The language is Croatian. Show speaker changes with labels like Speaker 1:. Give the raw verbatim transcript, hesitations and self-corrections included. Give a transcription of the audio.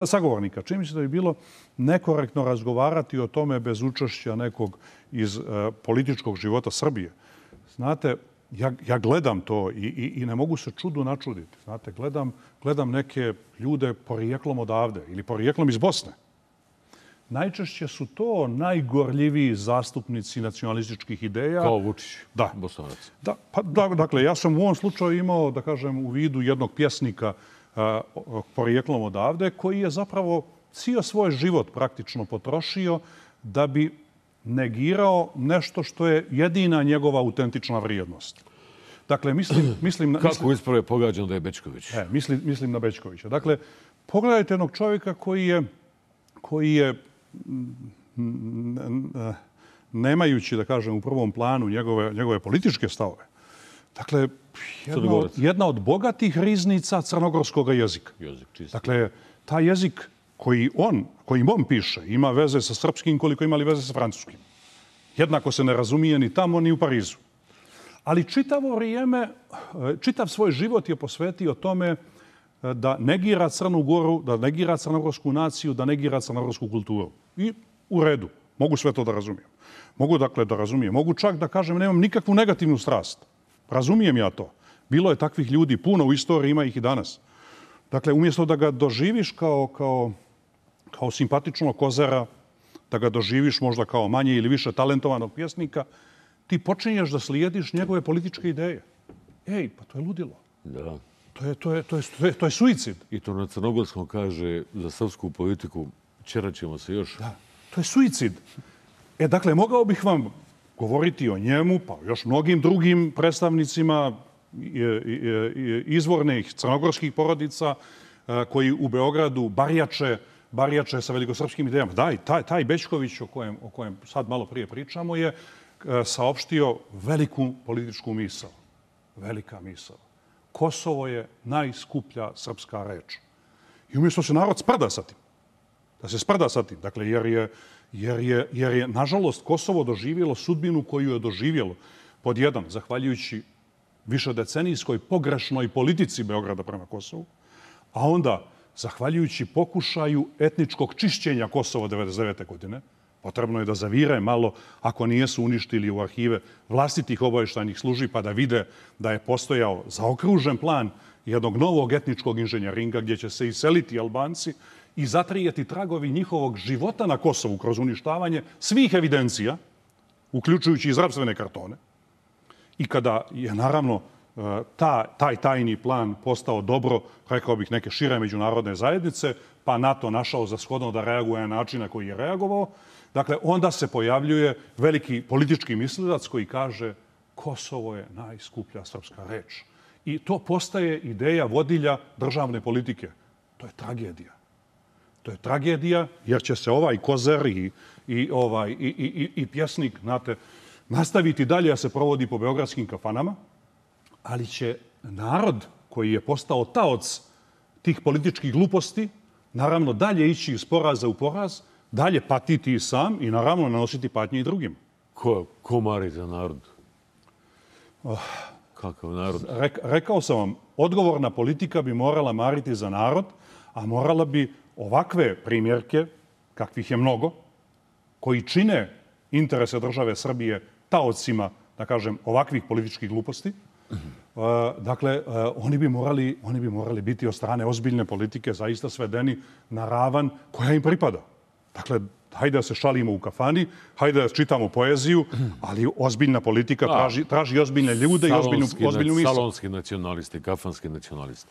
Speaker 1: sagovornika. Čini mi se da bi bilo nekorektno razgovarati o tome bez učešća nekog iz uh, političkog života Srbije. Znate, ja, ja gledam to i, i, i ne mogu se čudu načuditi. Znate, gledam, gledam neke ljude porijeklom odavde ili porijeklom iz Bosne. Najčešće su to najgorljiviji zastupnici nacionalističkih ideja.
Speaker 2: Kao Vučić,
Speaker 1: da.
Speaker 2: Bosanac.
Speaker 1: Da, pa, da, dakle, ja sam u ovom slučaju imao, da kažem, u vidu jednog pjesnika a, porijeklom odavde, koji je zapravo cijel svoj život praktično potrošio da bi negirao nešto što je jedina njegova autentična vrijednost. Dakle, mislim... mislim
Speaker 2: Kako
Speaker 1: mislim,
Speaker 2: ispravo je pogađano da je Bećković?
Speaker 1: E, mislim, mislim na Bećkovića. Dakle, pogledajte jednog čovjeka koji je, koji je nemajući, da kažem, u prvom planu njegove, njegove političke stavove. Dakle, jedna od, jedna od bogatih riznica crnogorskog jezika.
Speaker 2: Jezik čisti.
Speaker 1: Dakle, taj jezik koji on, kojim on piše, ima veze sa srpskim koliko imali veze sa francuskim. Jednako se ne razumije ni tamo, ni u Parizu. Ali čitavo vrijeme, čitav svoj život je posvetio tome da negira Crnu Goru, da negira crnogorsku naciju, da negira crnogorsku kulturu. I u redu. Mogu sve to da razumijem. Mogu dakle da razumijem. Mogu čak da kažem nemam nikakvu negativnu strast. Razumijem ja to. Bilo je takvih ljudi puno u istoriji, ima ih i danas. Dakle, umjesto da ga doživiš kao, kao, kao simpatičnog kozara, da ga doživiš možda kao manje ili više talentovanog pjesnika, ti počinješ da slijediš njegove političke ideje. Ej, pa to je ludilo.
Speaker 2: Da.
Speaker 1: To je, to je, to je, to je, to je suicid.
Speaker 2: I to na crnogorskom kaže za srpsku politiku ćerat ćemo se još.
Speaker 1: Da, to je suicid. E, dakle, mogao bih vam govoriti o njemu, pa još mnogim drugim predstavnicima izvornih crnogorskih porodica koji u Beogradu barjače, barjače sa velikosrpskim idejama. Da, i taj, taj Bećković o kojem, o kojem sad malo prije pričamo je saopštio veliku političku misao. Velika misao. Kosovo je najskuplja srpska reč. I umjesto se narod sprda sa tim, da se sprda sa tim, dakle, jer je, jer je, jer je nažalost, Kosovo doživjelo sudbinu koju je doživjelo pod jedan, zahvaljujući višedecenijskoj pogrešnoj politici Beograda prema Kosovu, a onda, zahvaljujući pokušaju etničkog čišćenja Kosova devedeset devete. godine, potrebno je da zavire malo ako nijesu uništili u arhive vlastitih obavještajnih službi pa da vide da je postojao zaokružen plan jednog novog etničkog inženjeringa gdje će se iseliti Albanci i zatrijeti tragovi njihovog života na Kosovu kroz uništavanje svih evidencija, uključujući i zdravstvene kartone. I kada je naravno ta, taj tajni plan postao dobro, rekao bih, neke šire međunarodne zajednice, pa NATO našao za shodno da reaguje na način na koji je reagovao, dakle, onda se pojavljuje veliki politički mislilac koji kaže Kosovo je najskuplja srpska reč. I to postaje ideja vodilja državne politike. To je tragedija. To je tragedija jer će se ovaj kozer i, i, ovaj, i, i, i pjesnik, znate, nastaviti dalje da se provodi po beogradskim kafanama, ali će narod koji je postao taoc tih političkih gluposti naravno dalje ići iz poraza u poraz, dalje patiti i sam i naravno nanositi patnje i drugim.
Speaker 2: Ko, ko mari za narod?
Speaker 1: Oh,
Speaker 2: Kakav narod?
Speaker 1: Rek, rekao sam vam, odgovorna politika bi morala mariti za narod, a morala bi ovakve primjerke, kakvih je mnogo, koji čine interese države Srbije taocima, da kažem, ovakvih političkih gluposti, Uh, dakle, uh, oni, bi morali, oni bi morali biti od strane ozbiljne politike zaista svedeni na ravan koja im pripada. Dakle, hajde da se šalimo u kafani, hajde da čitamo poeziju, ali ozbiljna politika traži, traži ozbiljne ljude salonski, i ozbiljnu, ozbiljnu misl.
Speaker 2: Salonski nacionalisti, kafanski nacionalisti.